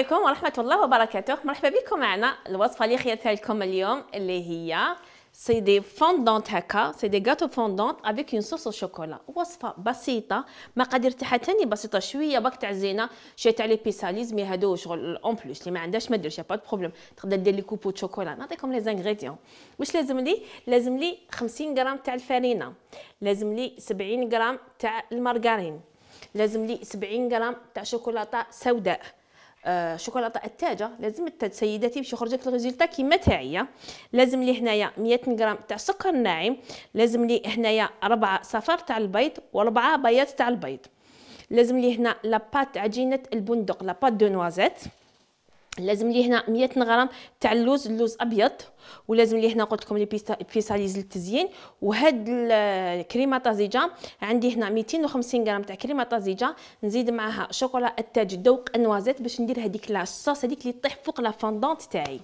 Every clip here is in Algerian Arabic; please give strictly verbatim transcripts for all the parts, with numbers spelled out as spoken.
عليكم ورحمة الله وبركاته. مرحبا بكم معنا. الوصفة اللي خيرتها لكم اليوم اللي هي سي دي فوندونت هكا، سي دي غاتو فوندونت افيك اون صوص شوكولا. وصفة بسيطة، مقادير تاعها تاني بسيطة شوية، باك تاع زينة شوية تاع لي بيساليز، مي هادو شغل اون بلوس اللي ما عندهاش ما ديرش با بروبليم، تقدر دير لي كوبو شوكولا. نعطيكم لي زانغريديون. واش لازم لي؟ لازم لي خمسين غرام تاع الفارينة، لازم لي سبعين غرام تاع المارغرين، لازم لي سبعين غرام تاع شوكولاته سوداء، آه شوكولاته التاجه، لازم التاج سيداتي باش يخرج لك الريزلت كيما تاعي. لازم لي هنايا مية غرام تاع سكر ناعم، لازم لي هنايا ربعة صفار تاع البيض وربعة بياض تاع البيض، لازم لي هنا لاباط عجينه البندق لاباط دو نوازيت، لازم لي هنا مية غرام تاع اللوز، اللوز ابيض، ولازم لي هنا قلت لكم لي بيساليز للتزيين. وهاد الكريمه طازجه عندي هنا ميتين وخمسين غرام تاع كريمه طازجه، نزيد معاها شوكولا التاج ذوق النوازيت باش ندير هذيك لاصوص هذيك اللي طيح فوق لا فوندونت تاعي.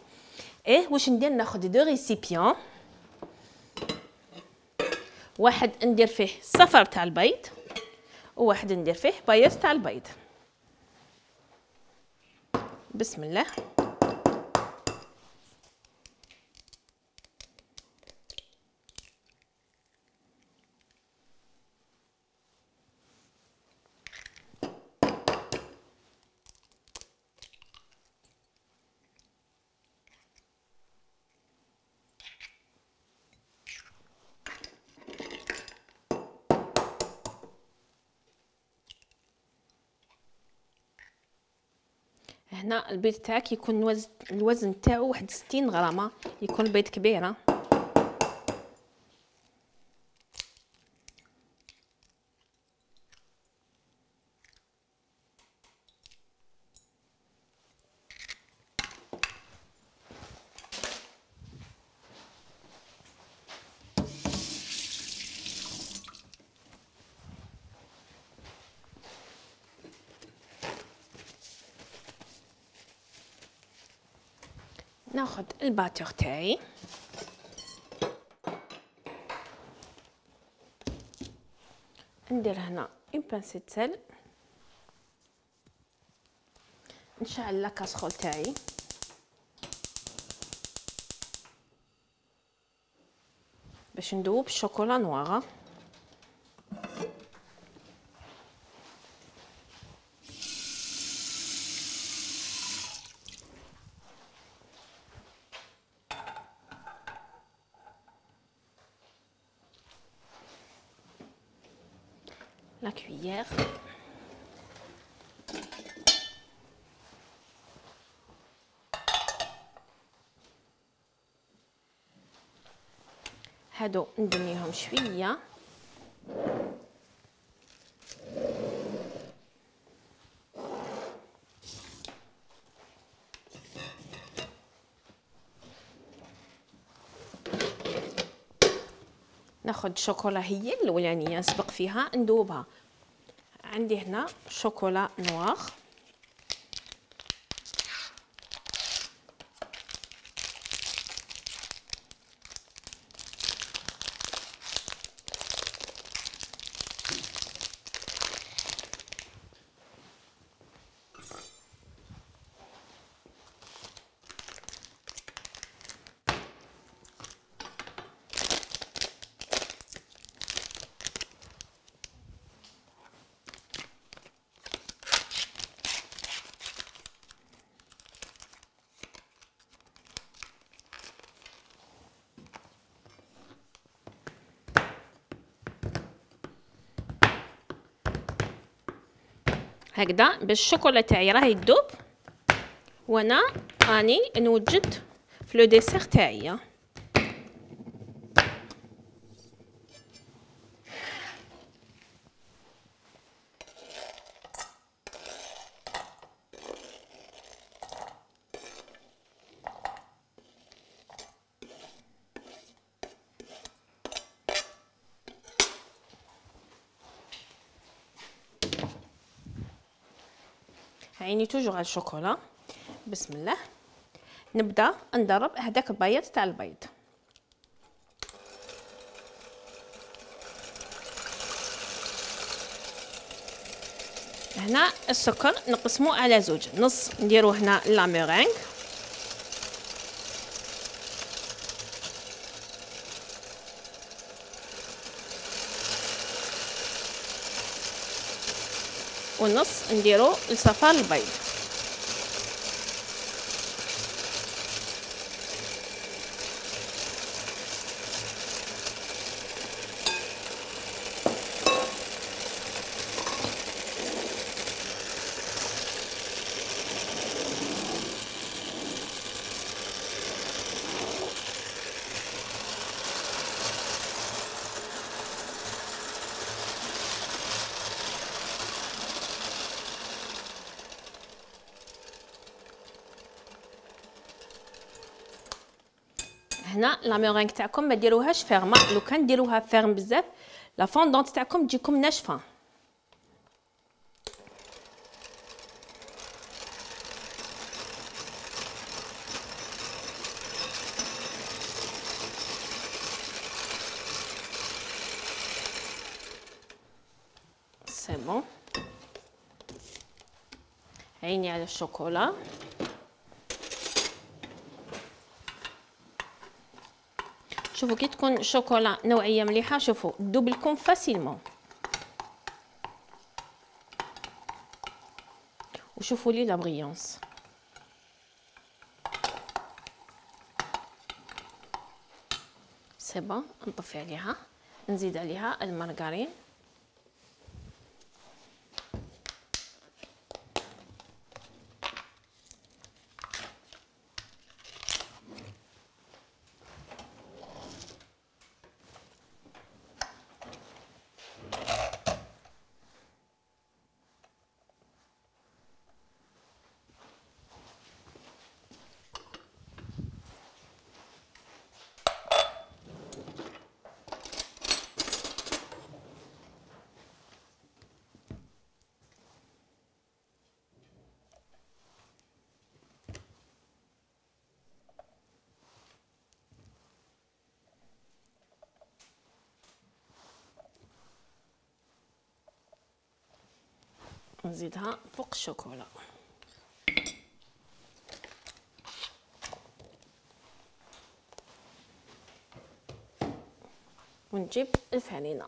ايه واش ندير؟ ناخذ دو ريسيبيون، واحد ندير فيه صفر تاع البيض وواحد ندير فيه بياض تاع البيض. بسم الله. هنا البيض تاعك يكون الوزن الوزن تاعو واحد ستين غرامه، يكون البيض كبيره. ناخذ الباتور تاعي، ندير هنا اون بانسي سل، نشعل لاكاسرول تاعي، باش ندوب الشوكولا نواره. la cuillère, هادو ندميهم شويه، ناخذ شوكولا هي الاولانيه نسبق فيها ندوبها. عندي هنا شوكولا نوار، هكذا باش الشوكولا تاعي راهي تذوب وانا راني نوجد في لو ديسير تاعي. عيني توجور على الشوكولا. بسم الله. نبدا نضرب هذاك البياض تاع البيض. هنا السكر نقسموه على زوج، نص نديرو هنا لا ميرينغ ونص نديرو لصفار البيض. هنا لا ميرينغ تاعكم ما ديروهاش فيرمه، لو كان ديروها فيرم بزاف لا فوندونت تاعكم تجيكم ناشفه. سي بون، عيني على الشوكولا. شوفوا كي تكون شوكولا نوعيه مليحه، شوفوا تذوب لكم فاسيلمون. وشوفوا لي لا بريونس. سي بون، نطفي عليها، نزيد عليها المارغرين. نزيدها فوق الشوكولا. ونجيب الفانينة.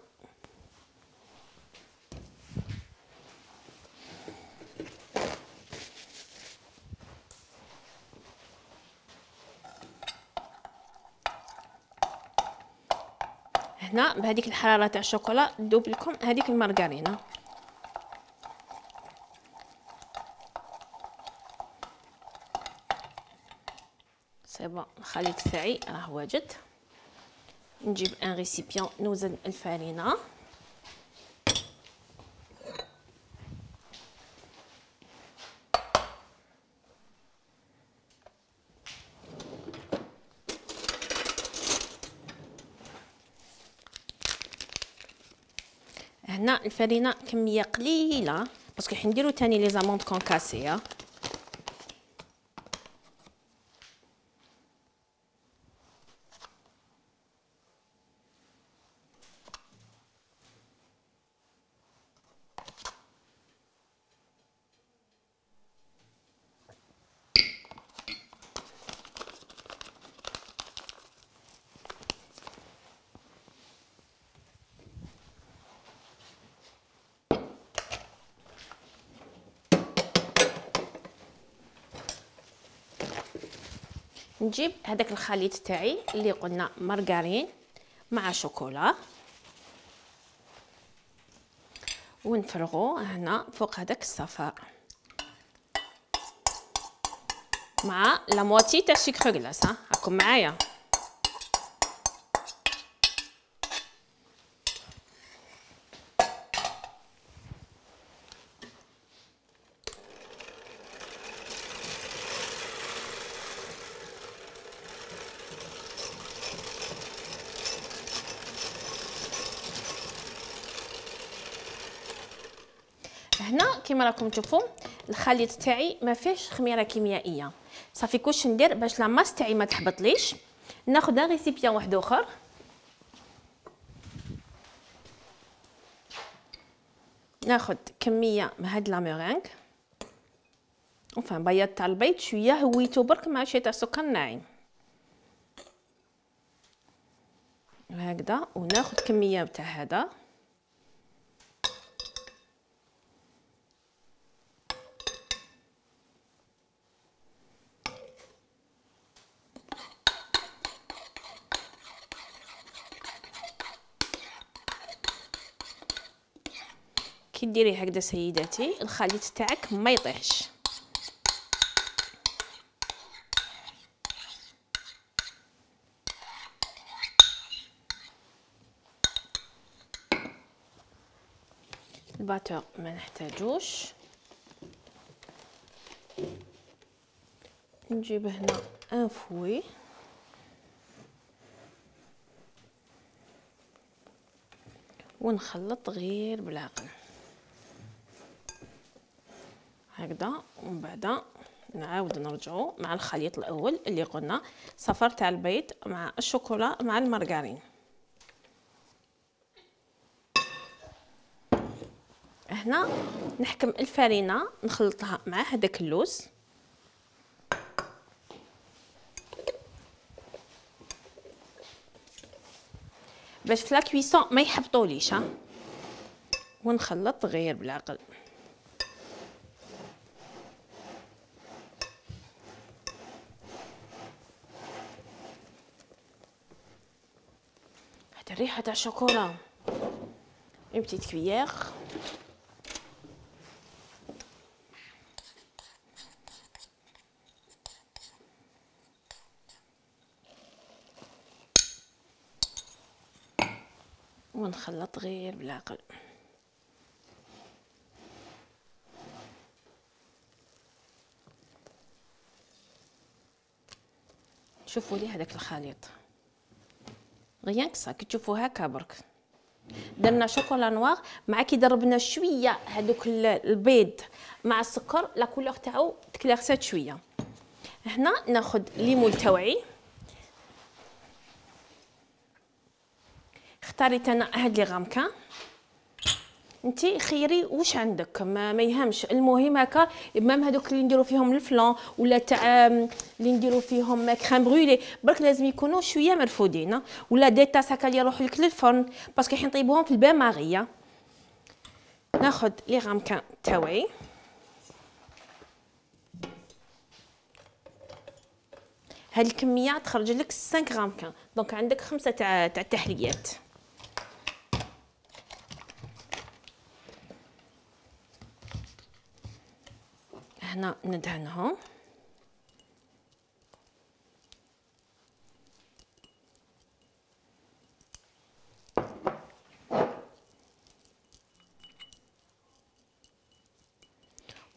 هنا بهذيك الحرارة تاع الشوكولا تذوب لكم هذيك المارغرينة. سي بون، الخليط تاعي راه واجد. نجيب ان ريسيبيون نوزن الفارينه. هنا الفارينه كميه قليله باسكو حنديرو تاني لي زاموند كونكاسيه. نجيب هذاك الخليط تاعي اللي قلنا مارغرين مع شوكولا ونفرغوه هنا فوق هذاك الصفار مع لا موتي تاع سكر غلاس. ها راكم معايا. هنا كما راكم تشوفوا الخليط تاعي ما فيهش خميره كيميائيه. صافي كلش ندير باش لا ماس تاعي ما تحبطليش. ناخذ ان ريسيبيون واحد اخر ناخد كميه من هاد لا ميرينغ وفان بياض تاع البيض شويه هويتو برك مع شويه تاع سكر ناعم هكذا. وناخد كميه تاع هذا كي ديري هكذا سيداتي الخليط تاعك ما يطيحش. الباتور ما نحتاجوش. نجيب هنا ان فوي ونخلط غير بالعقل هكذا. ومن بعد نعاود نرجعو مع الخليط الاول اللي قلنا صفر تاع البيض مع الشوكولا مع المارغرين. هنا نحكم الفرينه نخلطها مع هذاك اللوز باش في لا كويسون ما يحبطوليش ها. ونخلط غير بالعقل. هاد الريحه تاع الشوكولا اون بتيت كويير. ونخلط غير بالعقل. شوفوا لي هذاك الخليط غيان كسا كي تشوفوا هكا برك درنا شوكولا نوار مع كي ضربنا شويه هذوك البيض مع السكر لا كولور تاعو تكلاغسات شويه. هنا ناخذ ليمون توعي اختاريت انا هاد لي غامكان انتي خيري واش عندك ما, ما يهمش. المهم هكا مام هذوك اللي نديرو فيهم الفلان ولا تاع اللي نديرو فيهم كريم برويلي برك لازم يكونوا شويه مرفودين ولا دي طاس هكا اللي يروحوا لك للفرن باسكو حين نطيبوهم في البان ماغيه. ناخذ لي غامكان تاوعي هاد الكميه تخرج لك خمسة غامكان دونك عندك خمسه تاع تاع التحليات. هنا ندهنهم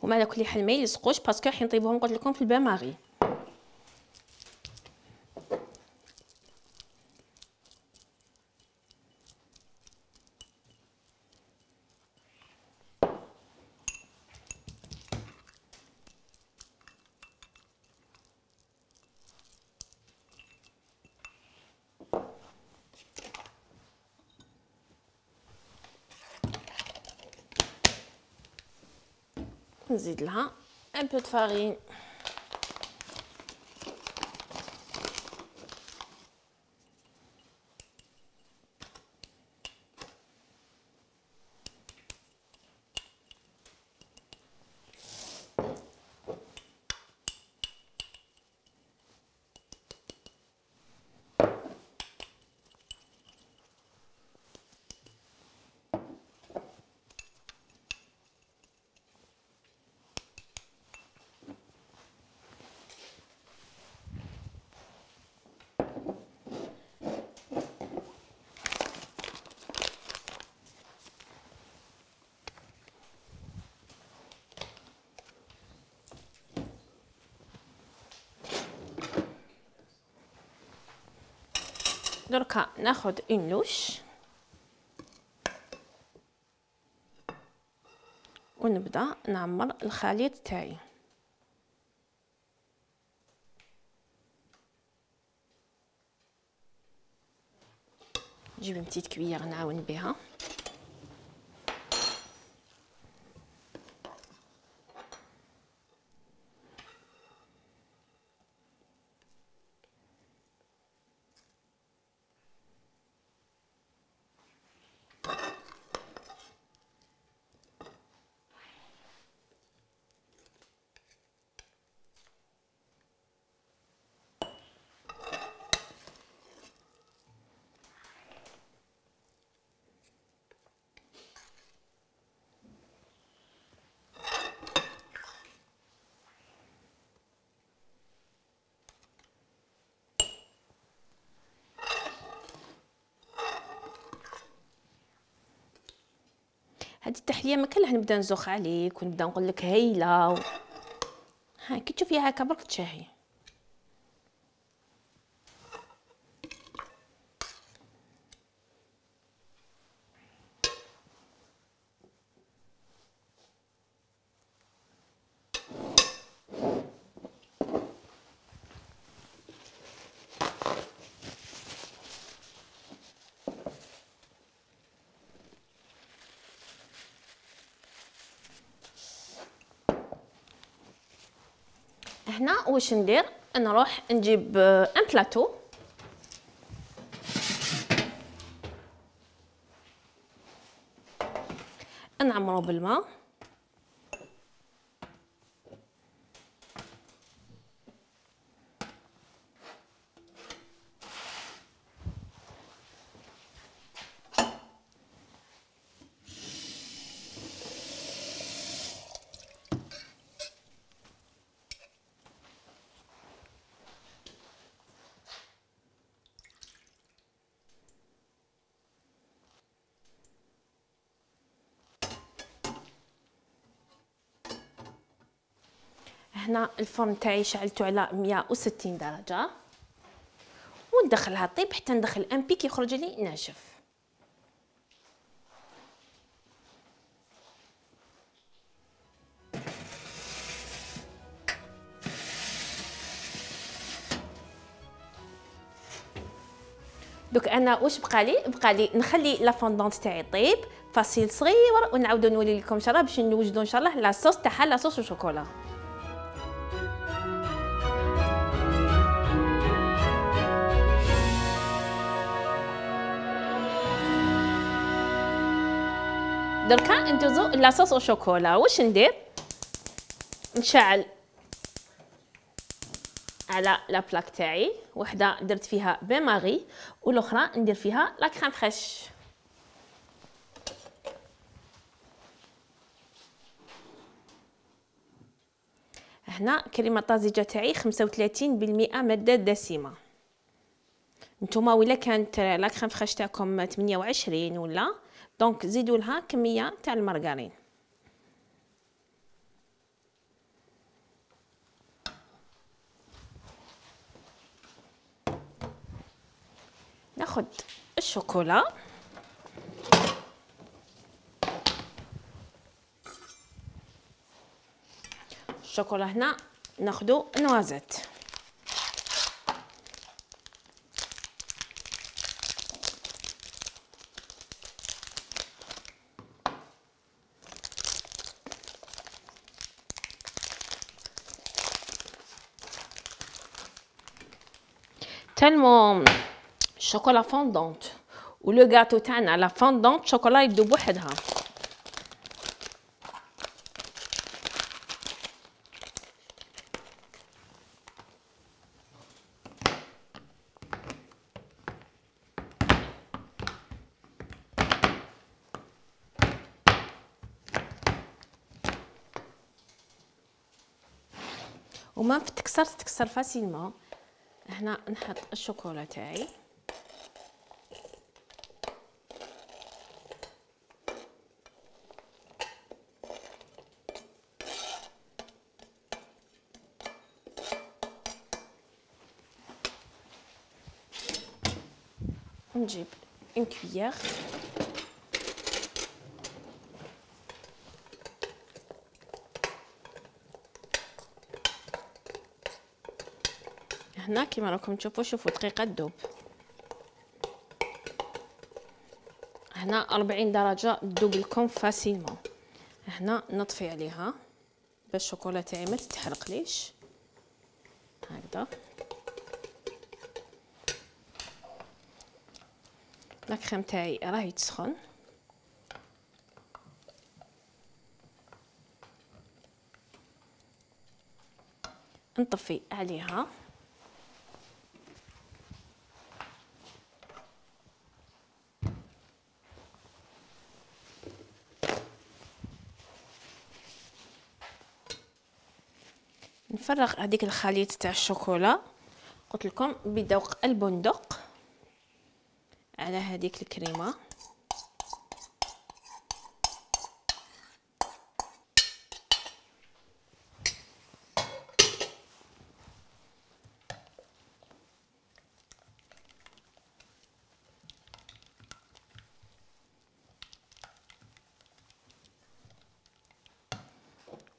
وما على كل حال ما يلصقوش باسكو حين نطيبوهم قلت لكم في البان ماغي. نزيد لها ان بو د فارين دركا ناخذ اون لوش ونبدا نعمر الخليط تاعي. نجيب بتيت كبيره نعاون بها هذه التحليه ما كان نبدا نزوخ عليك ونبدا نقول لك هايله و... ها كي تشوفيها هكا برك تشهي. هنا واش ندير؟ نروح نجيب ان بلاطو نعمرو بالماء، هنا الفرن تاعي شعلته على مية وستين درجه وندخلها طيب حتى ندخل ان بيك يخرج لي ناشف. دوك انا واش بقالي؟ بقالي نخلي لا فوندونت تاعي طيب فاصيل صغير ونعاودو نولي لكم ان شاء الله باش نوجدوا ان شاء الله لا صوص تاعها لا صوص وشوكولا. دركا ندوزو لاصوص وشوكولا. واش ندير؟ نشعل على لا بلاك تاعي، وحده درت فيها بين ماغي والاخرى ندير فيها لا كريم فريش. هنا كريمه طازجه تاعي خمسة وثلاثين بالمئة ماده دسمه. نتوما ولا كانت لا كريم فريش تاعكم ثمانية وعشرين ولا دونك زيدوا لها كميه تاع المارغرين. ناخذ الشوكولا الشوكولا هنا ناخذو نوازيت. تالمون الشوكولا فوندونت ولو غاتو تاعنا لا فوندونت شوكولا يذوب وحدها. وما تكسر تكسر فاسيلمون. هنا نحط الشوكولا تاعي نجيب ان كويير هنا كيما راكم تشوفوا. شوفوا دقيقه تذوب. هنا أربعين درجه تذوب لكم فاسيلمون. هنا نطفي عليها باش الشوكولا تاعي ما تتحرقليش هكذا. لا كريم تاعي راهي تسخن. نطفي عليها نفرغ هذيك الخليط تاع الشوكولا قلت لكم بذوق البندق على هذيك الكريمه.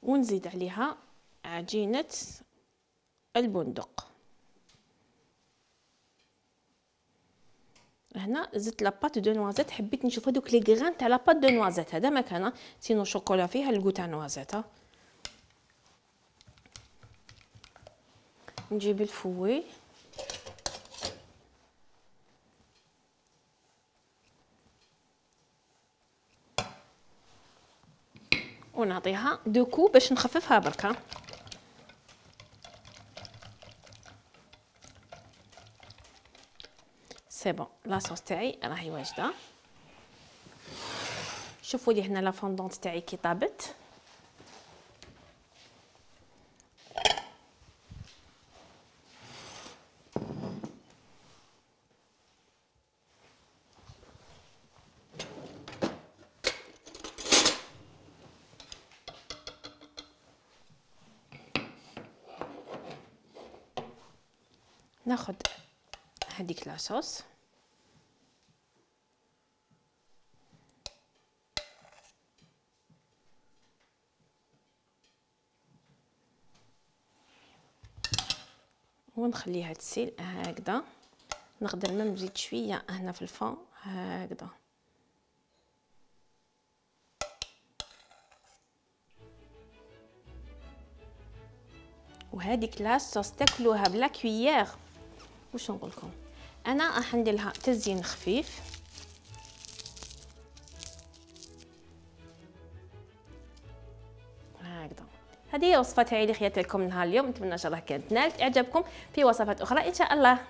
ونزيد عليها عجينة البندق. هنا زدت لاباط دو نوازيت، حبيت نشوف هذوك لي غران تاع لاباط دو نوازيت، هذا مكانه سينو شوكولا فيها الكو تاع نوازيت. نجيب الفوي ونعطيها دو كو باش نخففها بركه. سي بون، لاصوص تاعي راهي واجده. شوفوا لي هنا لا فوندونت تاعي كي طابت. ناخذ هذيك لاصوص ونخليها تسيل هكذا. نقدر ما نزيد شويه هنا في الفون هكذا. وهذيك لاصوص تاكلوها بلا كويير. واش نقول لكم، انا راح ندير لها تزيين خفيف. هكذا. هذه هي وصفه تاعي اللي خيرت لكم نهار اليوم. نتمنى ان شاء الله كانت نالت اعجابكم. في وصفات اخرى ان شاء الله.